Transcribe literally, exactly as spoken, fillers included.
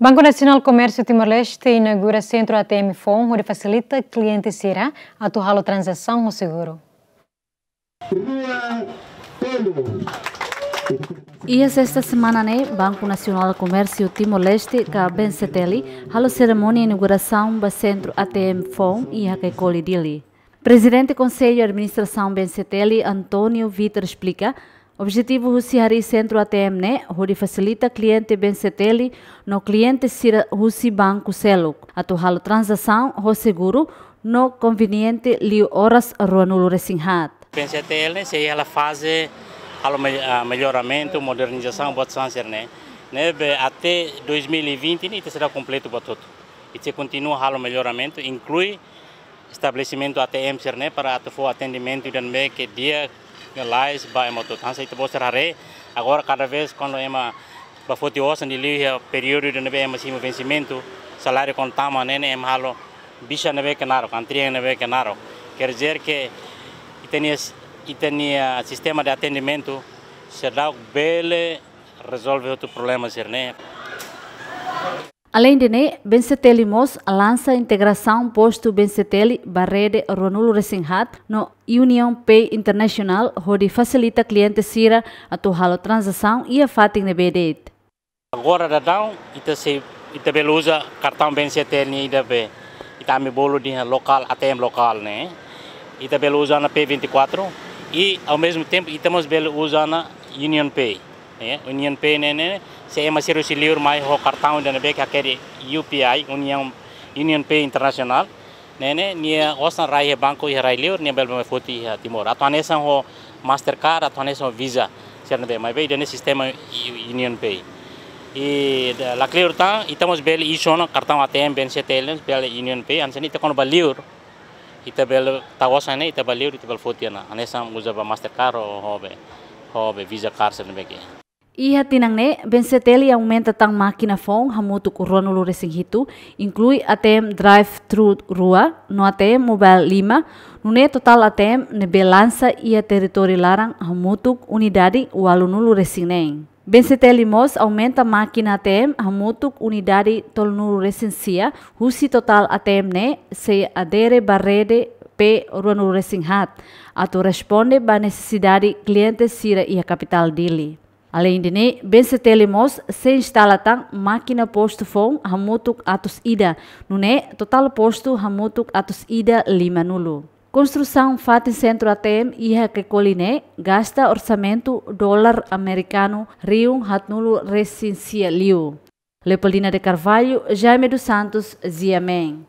Banku Nasionál Komérsiu Timor-Leste inaugura sentru A T M foun hodi fasilita kliente sira atu halo tranzasaun ho seguru. Iha sesta semana ne'e, Banku Nasionál Komérsiu Timor-Leste ka B N C T L halo serimónia inaugurasaun ba sentru A T M foun iha Caicoli, Dili. Prezidente Konsellu Administrasaun B N C T L, António Vitor, esplika, objetivu husi harii sentru A T M ne'e hodi fasilita kliente B N C T L no kliente sira husi banku seluk atu halo tranzasaun ho seguru no konveniente liu oras ruanulu-resin-haat. B N C T L ne'e sei iha faze halo me-, ah, melloramentu, modernizasaun buat sira-ne'e. Ne'ebé até dois mil e vinte ne'e ita sei kompletu buat hotu. Ita sei kontinua halo melloramentu, inklui estabelesimentu A T M sira-ne'e para atu fó atendimentu ida ne'ebé ke di'ak, lalais ba ema hotu. Hanesan ita-boot sira haree, agora kada vez kuandu ema bá foti osan liuliu iha períodu ida ne'ebé ema simu vensimentu, saláriu kuandu tama ne'e, ne'e ema halo bixa ne'ebé ke naruk, antrian ne'ebé ke naruk. Quer dizer que ita-nia, ita-nia sistema de atendimentu seidauk bele rezolve hotu problema sira-ne'e. Aleinde ne'e, B N C T L mós lansa integrasaun postu B N C T L ba rede ruanulu-resin-haat no Union Pay International hodi fasilita kliente sira atu halo tranzasaun iha fatin ne'ebé de'it. Agora daudaun, ita sei, ita bele uza kartaun B N C T L ne'e ida be, ita ami bolu dehan lokál, A T M lokál ne'e. Ita bele uza ona P vinte e quatro i, ao mesmo tempo, ita mós bele uza ona Union Pay. Eh, Union Pay ne'e, ne'e, se ema sira husi liur mai ho kartaun ida ne'ebé ke hakerek U P I, Union, Union Pay International. Ne'e, ne'e, nia osan rai iha banku iha rai liur, nia bele mai foti iha Timor. Atu hanesan ho Mastercard, atu hanesan ho Visa, sira ne'ebé. Maibé ida-ne'e sistema U-, Union Pay. I da-, lakleur tan, ita mós bele issue ona kartaun A T M B N C T L, bele Union Pay, hanesan ne'e ita kuandu bá liur, ita bele tau osan ne'e, ita bá liur, ita bele foti ona. Hanesan uza ba Mastercard ho, ho be, ho be Visa card sira ne'ebé ke. Iha tinan ne'e, B N C T L aumenta tan mákina foun hamutuk ruanulu-resin-hitu, inklui A T M drive-thru rua, no A T M mobile lima, nune'e totál A T M ne'ebé lansa iha territóriu laran hamutuk unidade ualunulu-resin-neen. B N C T L mós aumenta mákina A T M hamutuk unidade tolunulu-resin-sia, husi totál A T M ne'e sei adere ba rede P ruanulu-resin-haat, atu responde ba nesesidade kliente sira iha kapitál Dili. Aleinde ne'e, B N C T L mós sei instala tan mákina postu foun hamutuk atus ida, nune'e totál postu hamutuk atus ida limanulu. Konstrusaun fatin sentru A T M iha Caicoli ne'e gasta orsamentu dolar amerikanu rihun haatnulu-resin-sia liu. Leopoldina de Carvalho, Jaime dos Santos, G M N.